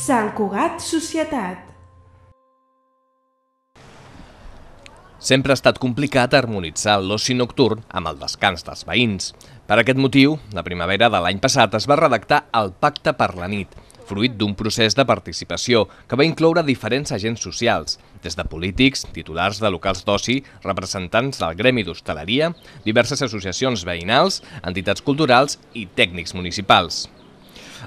Sant Cugat Societat. Sempre ha estat complicat harmonitzar l'oci nocturn amb el descans dels veïns. Per aquest motiu, la primavera de l'any passat es va redactar el Pacte per la nit, fruit d'un procés de participació que va incloure diferents agents socials, des de polítics, titulars de locals d'oci, representants del gremi d'hostaleria, diverses associacions veïnals, entitats culturals i tècnics municipals.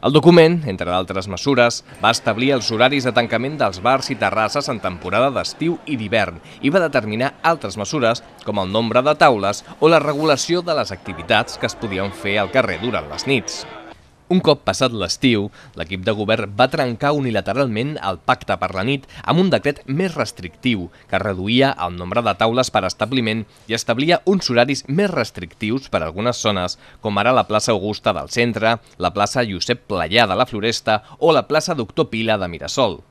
El document, entre d'altres mesures, va establir els horaris de tancament dels bars i terrasses en temporada d'estiu i d'hivern i va determinar altres mesures com el nombre de taules o la regulació de les activitats que es podien fer al carrer durant les nits. Un cop passat l'estiu, l'equip de govern va trencar unilateralment el Pacte per la nit amb un decret més restrictiu que reduïa el nombre de taules per establiment i establia uns horaris més restrictius per a algunes zones, com ara la plaça Augusta del centre, la plaça Josep Playà de la Floresta o la plaça Doctor Pila de Mirasol.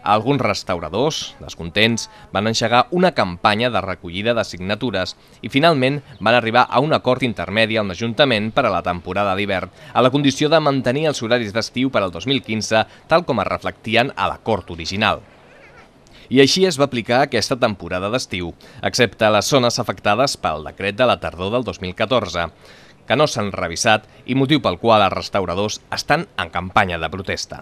Alguns restauradors, descontents, van engegar una campanya de recollida de signatures i finalment van arribar a un acord intermedi amb l'Ajuntament per a la temporada d'hivern, a la condició de mantenir els horaris d'estiu per al 2015, tal com es reflectien a l'acord original. I així es va aplicar aquesta temporada d'estiu, excepte a les zones afectades pel decret de la tardor del 2014, que no s'han revisat i motiu pel qual els restauradors estan en campanya de protesta.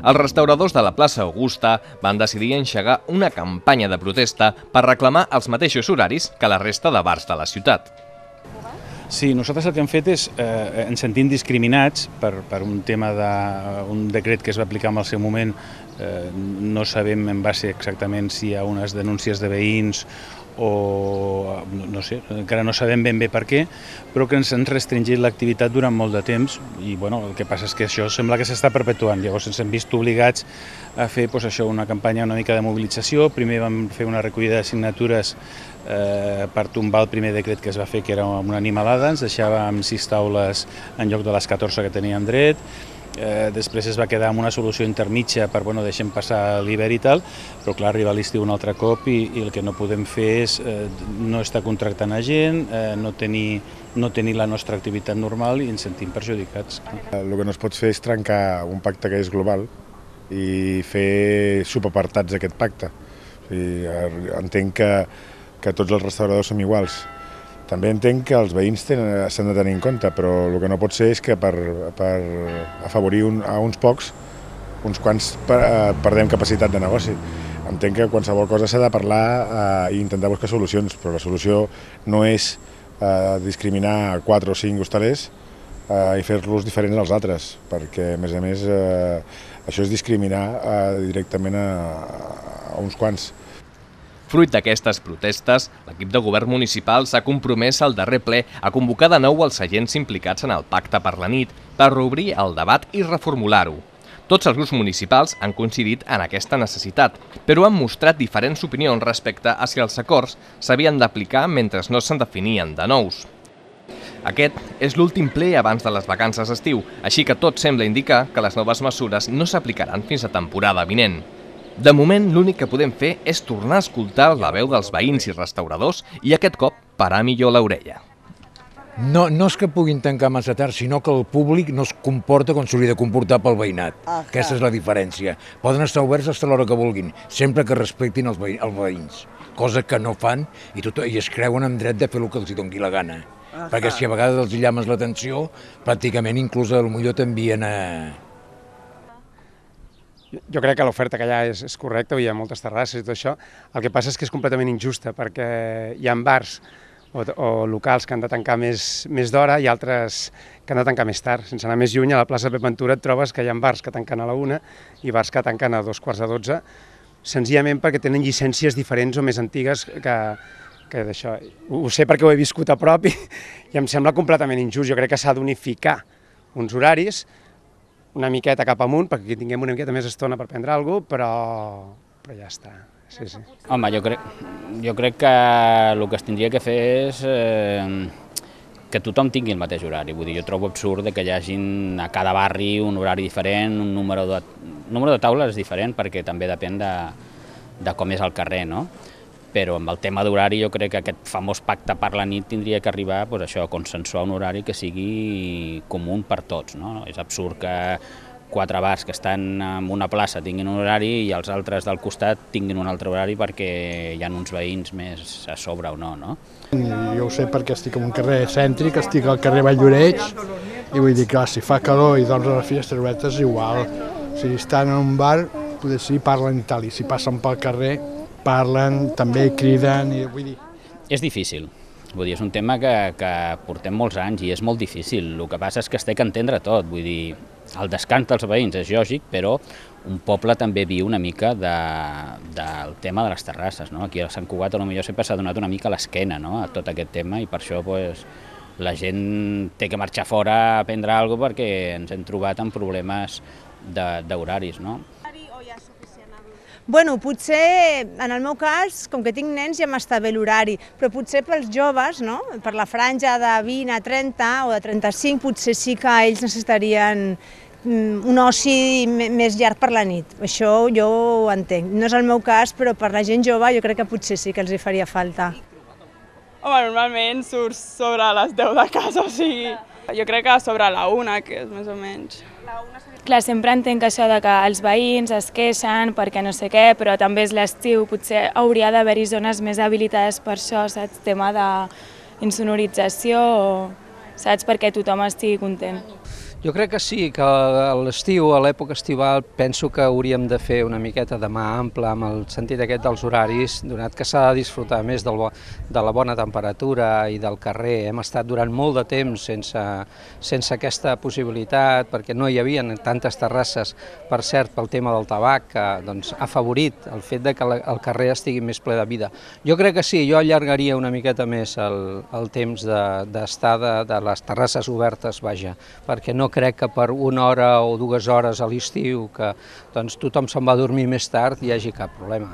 Els restauradors de la plaça Augusta van decidir engegar una campanya de protesta per reclamar els mateixos horaris que la resta de bars de la ciutat. Sí, nosaltres el que hem fet és, ens sentim discriminats per un tema d'un decret que es va aplicar en el seu moment. No sabem en base exactament si hi ha unes denúncies de veïns o no sé, encara no sabem ben bé per què, però que ens han restringit l'activitat durant molt de temps i bueno, el que passa és que això sembla que s'està perpetuant. Llavors ens hem vist obligats a fer una campanya una mica de mobilització. Primer vam fer una recollida de signatures per tombar el primer decret que es va fer, que era una animalada, ens deixàvem 6 taules en lloc de les 14 que teníem dret. Després es va quedar amb una solució intermitja per deixem passar l'hivern i tal, però clar, arriba l'estiu un altre cop i el que no podem fer és no estar contractant a gent, no tenir la nostra activitat normal i ens sentim perjudicats. El que no es pot fer és trencar un pacte que és global i fer subapartats d'aquest pacte. Entenc que tots els restauradors som iguals. També entenc que els veïns s'han de tenir en compte, però el que no pot ser és que per afavorir a uns pocs, uns quants perdem capacitat de negoci. Entenc que qualsevol cosa s'ha de parlar i intentar buscar solucions, però la solució no és discriminar 4 o 5 hostalers i fer-los diferents als altres, perquè a més això és discriminar directament a uns quants. Fruit d'aquestes protestes, l'equip de govern municipal s'ha compromès al darrer ple a convocar de nou els agents implicats en el Pacte per la nit per reobrir el debat i reformular-ho. Tots els grups municipals han coincidit en aquesta necessitat, però han mostrat diferents opinions respecte a si els acords s'havien d'aplicar mentre no se'n definien de nous. Aquest és l'últim ple abans de les vacances d'estiu, així que tot sembla indicar que les noves mesures no s'aplicaran fins a temporada vinent. De moment, l'únic que podem fer és tornar a escoltar la veu dels veïns i restauradors i aquest cop parar millor l'orella. No és que puguin tancar massa tard, sinó que el públic no es comporta com s'hauria de comportar pel veïnat. Aquesta és la diferència. Poden estar oberts fins a l'hora que vulguin, sempre que respectin els veïns, cosa que no fan i es creuen en dret de fer el que els doni la gana. Perquè si a vegades els llames l'atenció, pràcticament inclús potser t'envien a... Jo crec que l'oferta que hi ha és correcta, hi ha moltes terrasses i tot això. El que passa és que és completament injusta, perquè hi ha bars o locals que han de tancar més d'hora i altres que han de tancar més tard. Sense anar més lluny, a la plaça Pep Ventura et trobes que hi ha bars que tanquen a la 1 i bars que tanquen a 2:45, senzillament perquè tenen llicències diferents o més antigues que d'això. Ho sé perquè ho he viscut a prop i em sembla completament injust. Jo crec que s'ha d'unificar uns horaris una miqueta cap amunt, perquè tinguem una miqueta més estona per prendre alguna cosa, però ja està. Sí, sí. Home, jo crec que el que es tindria que fer és que tothom tingui el mateix horari. Vull dir, jo trobo absurd que hi hagin a cada barri un horari diferent, un número de taules és diferent perquè també depèn de com és el carrer, no? Però amb el tema d'horari jo crec que aquest famós pacte per la nit tindria que arribar a consensuar un horari que sigui comú per tots, no? És absurd que 4 bars que estan en una plaça tinguin un horari i els altres del costat tinguin un altre horari perquè hi ha uns veïns més a sobre o no, no? Jo ho sé perquè estic en un carrer cèntric, estic al carrer Valldoreix i vull dir que si fa calor i dorms a les finestres obertes igual. Si estan en un bar, potser sí, parlen i tal, i si passen pel carrer parlen, també criden i vull dir... És difícil. Vull dir, és un tema que portem molts anys i és molt difícil. El que passa és que es té que entendre tot. Vull dir, el descans dels veïns és lògic, però un poble també viu una mica del tema de les terrasses, no? Aquí a Sant Cugat potser sempre s'ha donat una mica l'esquena, no?, a tot aquest tema i per això la gent té que marxar fora a prendre alguna cosa perquè ens hem trobat amb problemes d'horaris, no? Bueno, potser, en el meu cas, com que tinc nens ja m'està bé l'horari, però potser pels joves, no?, per la franja de 20 a 30 o de 35, potser sí que ells necessitarien un oci més llarg per la nit. Això jo ho entenc. No és el meu cas, però per la gent jove jo crec que potser sí que els hi faria falta. Home, normalment surts sobre les 10 de casa, o sigui, jo crec que sobre la 1, que és més o menys. Clar, sempre entenc això de que els veïns es queixen perquè no sé què, però també és l'estiu, potser hauria d'haver-hi zones més habilitades per això, saps? Tema d'insonorització, saps? Perquè tothom estigui content. Jo crec que sí, que a l'estiu, a l'època estival, penso que hauríem de fer una miqueta de mà ampla amb el sentit aquest dels horaris, donat que s'ha de disfrutar més de la bona temperatura i del carrer. Hem estat durant molt de temps sense aquesta possibilitat, perquè no hi havia tantes terrasses, per cert, pel tema del tabac, que ha afavorit el fet de que el carrer estigui més ple de vida. Jo crec que sí, jo allargaria una miqueta més el temps d'estar de les terrasses obertes, vaja, perquè no crec que per 1 hora o 2 hores a l'estiu, que tothom se'n va dormir més tard, hi hagi cap problema.